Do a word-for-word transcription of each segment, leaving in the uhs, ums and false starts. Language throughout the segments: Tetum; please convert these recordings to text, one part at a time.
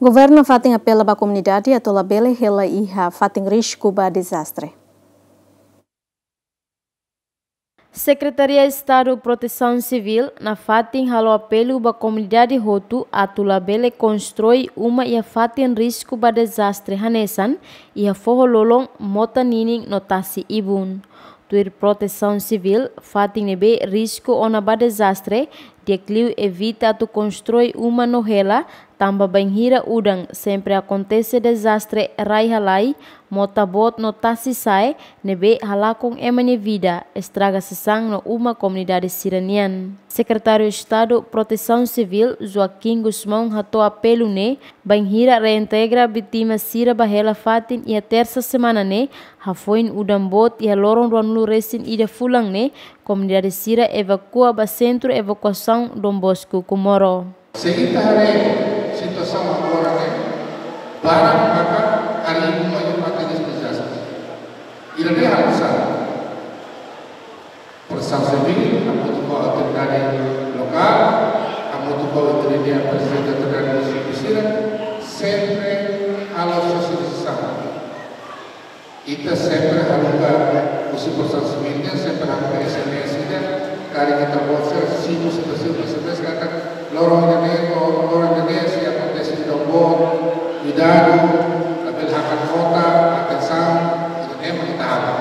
Governu nafatin apela ba komunidade atu labele hela iha fatin risku ba dezastre. Sekretaria Estadu Protesaun Sivíl nafatin halo apelu ba komunidade hotu atu labele konstrui uma iha fatin risku ba dezastre hanesan iha foho lolon, mota ninin no tasi ibun. Tuir Protesaun Sivíl, fatin ne'ebé risku ona ba dezastre, di'ak liu evita atu konstrui uma no hela, tanba bainhira udan sempre akontese dezastre rai halai, mota boot no tasi sa'e, ne'ebé halakon ema nia vida, estraga sasán no uma komunidade sira-nian. Sekretáriu Estadu Protesaun Sivíl, Joaquim Gusmão, hato'o apelu ne'e, bainhira reintegra vítima sira ba hela fatin iha tersa semana ne'e, hafoin udan boot iha loron ruanulu resin ida fulan ne'e, komunidade sira evakua ba Sentru Evakuasaun Dom Bosco Comoro. Se ita haree situasaun agora ne'e, barak maka harii uma iha fatin risku dezastre. Ida-ne'e halo sá? Protesaun Sivíl, hamutuk ho autoridade lokál, hamutuk ho autoridade, prezidente autoridade munisípiu sira, sempre halo sosializasaun. Ita sempre haruka, husi Protesaun Sivíl nian sempre haruka S M S ida, karik ita-boot sira simu, simu, simu S M S katak loron ida-ne'e, loron ida-ne'e sei akontese udan boot, kuidadu, labele hakat mota, atensaun, ida-ne'e mak ita halo.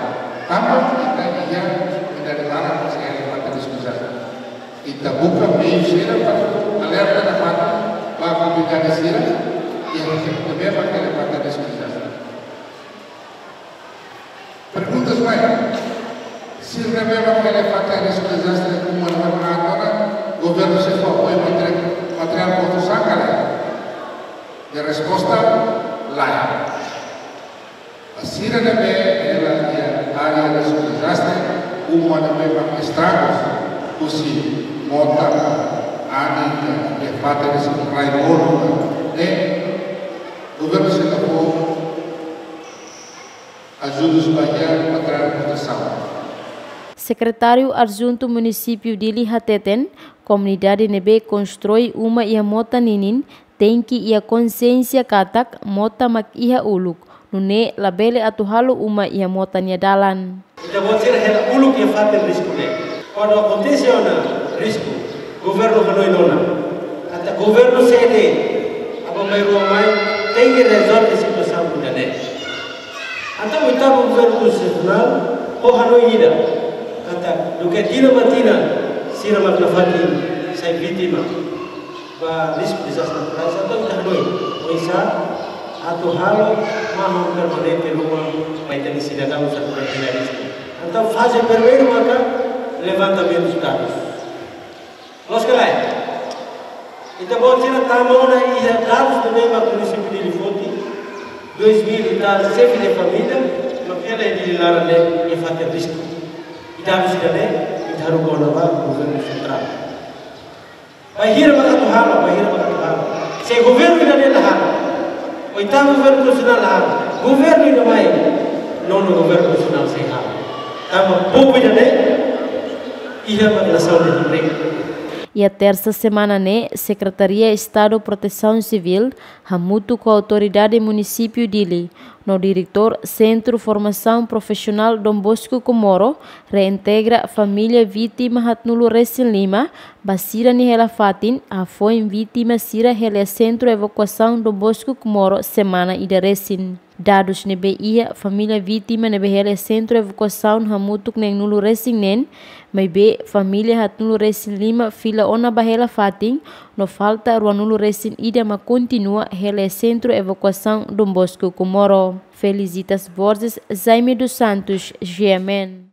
Tanba ita iha komunidade barak sei hela iha fatin risku dezastre. Ita buka meiu sira para alerta nafatin ba komunidade sira, iha ne'ebé mak hela iha fatin risku dezastre. Pergunta mai, sira ne'ebé mak hela iha fatin risku dezastre, uma ne'ebé mak agora, governu sei fó apoiu materiál, materiál konstrusaun ka lae? Nia resposta, lae. Ba sira ne'ebé hela iha área risku dezastre, uma ne'ebé mak estragus, husi mota, anin, iha fatin risku rai monu, ne'e governu sei la fó ajuda ba iha materiál protesaun. Sekretáriu Adjuntu Munisípiu Dili hateten, komunidade ne'ebé konstrui uma iha mota ninin, tenke iha konsiénsia katak mota mak iha uluk, nune'e labele atu halo uma iha mota nia dalan. Ita-boot sira hela uluk iha fatin risku ne'e. Kuandu akontese ona risku, governu hanoin ona. Entaun governu sede, aban-bainrua mai, tenke rezolve situasaun ida-ne'e. Entaun, oitavu governu konstitusionál, ho hanoin ida. Katak, duké tinan ba tinan, sira mak nafatin sai vítima ba risku dezastre naturais, entaun ita hanoin oinsá atu halo mahon permanente ruma ba ita-nia sidadaun sira ne'ebé iha risku. Entaun, faze primeiru maka levantamentu dadus. Loos ka lae? Ita-boot sira tama ona iha dadus ne'ebé mak munisípiu Dili foti, dois mil e tal xefe de família mak hela iha Dili laran ne'e iha fatin risku. I dadus ida-ne'e ita haruka ona ba governu sentrál. Bainhira mak atu halo, bainhira mak atu halo. Se governu ida-ne'e la halo, oitavu governu konstitusionál la halo, governu ida mai, nonu governu konstitusionál sei halo. Tanba povu ida-ne'e iha mak nasaun ida-ne'e. Iha tersa semana ne'e, Sekretaria Estadu Protesaun Sivíl hamutuk ho autoridade munisípiu Dili no diretór Sentru Formasaun Profisionál Dom Bosco Comoro reintegra família vítima haatnulu resin lima ba sira-nia hela fatin, hafoin vítima sira hela iha Sentru Evakuasaun Dom Bosco Comoro semana ida resin. Dadus ne'ebé iha, família vítima ne'ebé hela iha Sentru Evakuasaun hamutuk neenulu resin neen, maibé família haatnulu resin lima fila ona ba hela fatin, no falta ruanulu resin ida mak kontinua hela iha Sentru Evakuasaun Dom Bosco Comoro. Felicitas Borges, Jaime dos Santos, G M N.